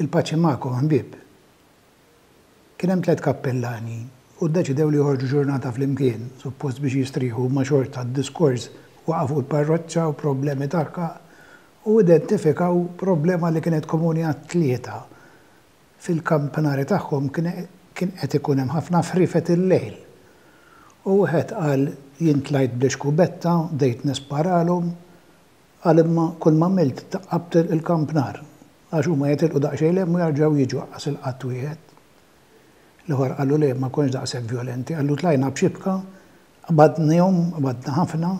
Il-paċi magħkom ħbieb. Kien hemm tlett kappellani u ddeċidew li joħorġu ġurnata flimkien, suppost biex jistrieħu imma xorta d-diskors waqa' fuq il-parroċċa u problemi tagħha u identifikaw problema li kienet komuni għat-tlieta. Fil-kampanari tagħhom kien kien qed ikun hemm ħafna friefet il-lejl. U wieħed qal jien tlajt bl-ixkubetta, bdejt nisparalhom, Qal imma kull m'għamilt taqqabt il-kampnar għax huma jitilqu daqsxejn 'l hemm u jarġgħu jiġu aqqas il-qatt wieħed. L-ieħor qallu le ma kontx daqshekk vjolenti, qallu tlajna b'xibka, qbadnihom, qbadna ħafna,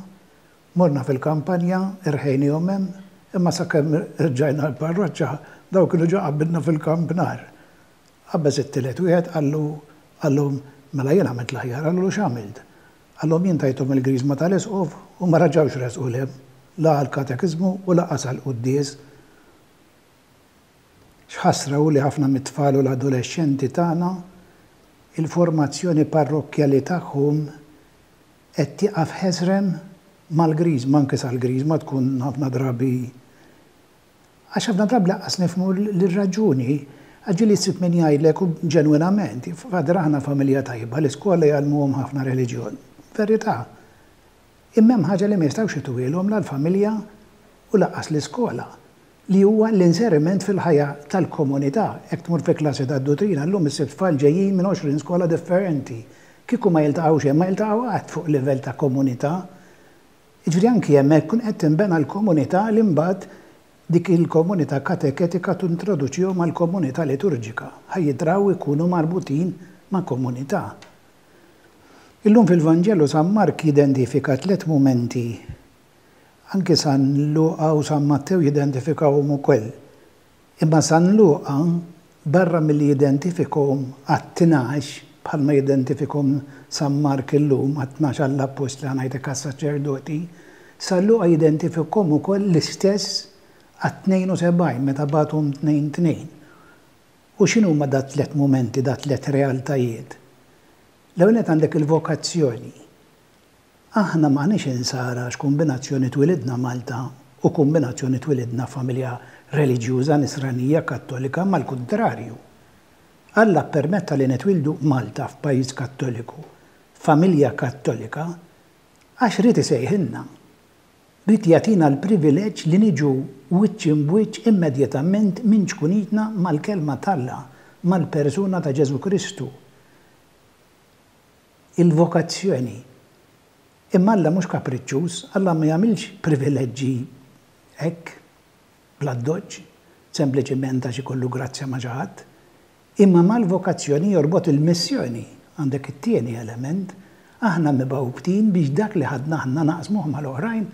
morna fil-kampanja, irħejnihom hemm, imma sakemm rġajna l-parroċċa dawn kienu ġa qabilna fil-kampnar. Qabeż it-tielet wieħed qallu qallhom mela jien għamilt l-aħjar, qalulu x'għamilt? Qalhom jien tajthom il-griżma tal-isqof u ma raġgħux resqu 'l hemm, la għall-katekiżmu u lanqas għall-quddies. X'ħasra hu li ħafna mit-tfal u l-adolexxenti tagħna il-formazzjoni parrokkjali tagħhom qed tieqaf ħesrem mal-griżma, anke sal-griżma tkun ħafna drabi Għax ħafna drabi lanqas nifhmu l-raġuni. Għax ġieli ssib min jgħidlek u ġenwinament, Father aħna familja tajba, l-iskola jgħallmuhom ħafna reliġjon. Verità. Imma hemm ħaġa li ma jistgħux ituhielhom la l-familja u lanqas l-iskola, li huwa l-inseriment fil-ħajja tal-komunità. Jekk tmur fi klassi tad-dutrina llum issib tfal ġejjin minn 20 skola differenti. Kieku ma jiltaqgħux hemm ma jiltaqgħu qatt fuq livell ta' komunità. Jiġifieri anki hemmhekk tkun qed tinbena l-komunità li mbagħad dik il-komunità kateketika tintroduċihom għall-komunità liturġika, ħa jidraw ikunu marbutin ma' komunità. Illum fil-Vanġelu San Mark jidentifika tlett mumenti, anki San Luqa u San Mattew jidentifikawhom ukoll. Imma San Luqa, barra milli jidentifikhom għat-tnax, bħalma jidentifikhom San Mark illum għat-tnax għall-appostli, ħa ngħid hekk għas-saċerdoti, San Luqa jidentifikhom ukoll l-istess għat-72 meta bagħathom tnejn tnejn. U x'inhuma dat-tliet mumenti, dat-tliet realtajiet? L-ewwel nett għandek il-vokazzjoni. Aħna m'aħniex insara għax kumbinazzjoni twilidna Malta u kumbinazzjoni twilidna f'familja reliġjuża nisranija kattolika imma l-kuntrarju. Alla ppermetta li nitwieldu Malta f'pajjiż kattoliku, f'familja kattolika għax ried isejħilna. Ried jagħtina l-privileġġ li niġu wiċċ imb'wiċċ immedjatament minn ċkunitna mal-Kelma t'Alla, mal-persuna ta' Ġesù Kristu. Il-vokazzjoni. Imma Alla mhux kapriċċuż, Alla ma jagħmilx privileġġi hekk, bl-addoċċ, sempliċiment għax ikollu grazzja ma' xi ħadd. Imma mal-vokazzjoni jorbot il-missjoni. Għandek it-tieni element, aħna mibgħutin biex dak li ħadna aħna naqsmuh mal-oħrajn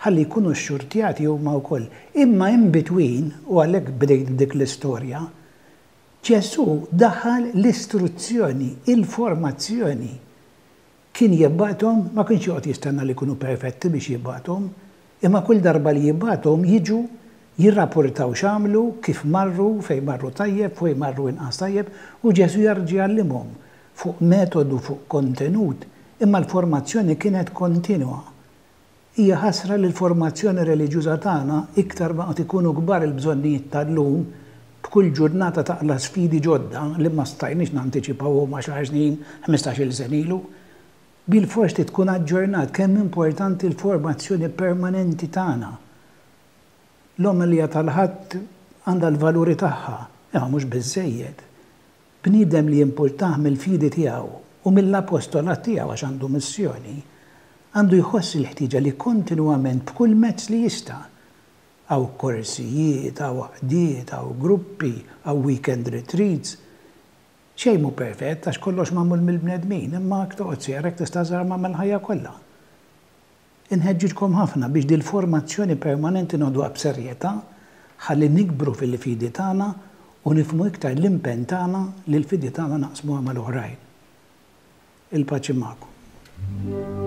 ħalli jkunu xxurtjati huma wkoll. Imma in between, u għalhekk bdejt b'dik l-istorja, Ġesù daħal l-istruzzjoni, il-formazzjoni. Kien jibgħathom, ma kienx joqgħod jistenna li jkunu perfetti biex jibgħathom, imma kull darba li jibgħathom jiġu jirrapportaw x'għamlu, kif marru, fejn marru tajjeb, fejn marru inqas tajjeb, u Ġesù jerġa' jgħallimhom fuq metodu, fuq kontenut, imma l-formazzjoni kienet kontinwa. Hija ħasra li l-formazzjoni reliġjuża tagħna, iktar ma qed ikunu kbar il-bżonnijiet tal-lum, b'kull ġurnata taqla' sfidi ġodda li ma stajniex nantiċipawhom għaxar snin, ħmistax-il sena ilu. Bilfors trid tkun aġġornat kemm importanti l-formazzjoni permanenti tagħna. L-omelija tal-Ħadd għandha l-valuri tagħha, imma mhux biżżejjed. Bniedem li jimpurtah mill-fidi tiegħu u mill-apostolat tiegħu għax għandu missjoni, għandu jħoss il-ħtieġa li kontinwament b'kull mezz li jista', hawn korsijiet, hawn għaqdiet, hawn gruppi, hawn weekend retreats. Xejn mhu perfett għax kollox magħmul mill-bnedmin, imma jekk toqgħod sejjer hekk tista' żarma mal-ħajja kollha. Inħeġġiġkom ħafna biex dil-formazzjoni permanenti noħduha b'serjetà ħalli nikbru fil-fidi tagħna u nifhmu iktar l-impenn tagħna li l-fidi tagħna naqsmuha mal-oħrajn. Il-paċi magħkom.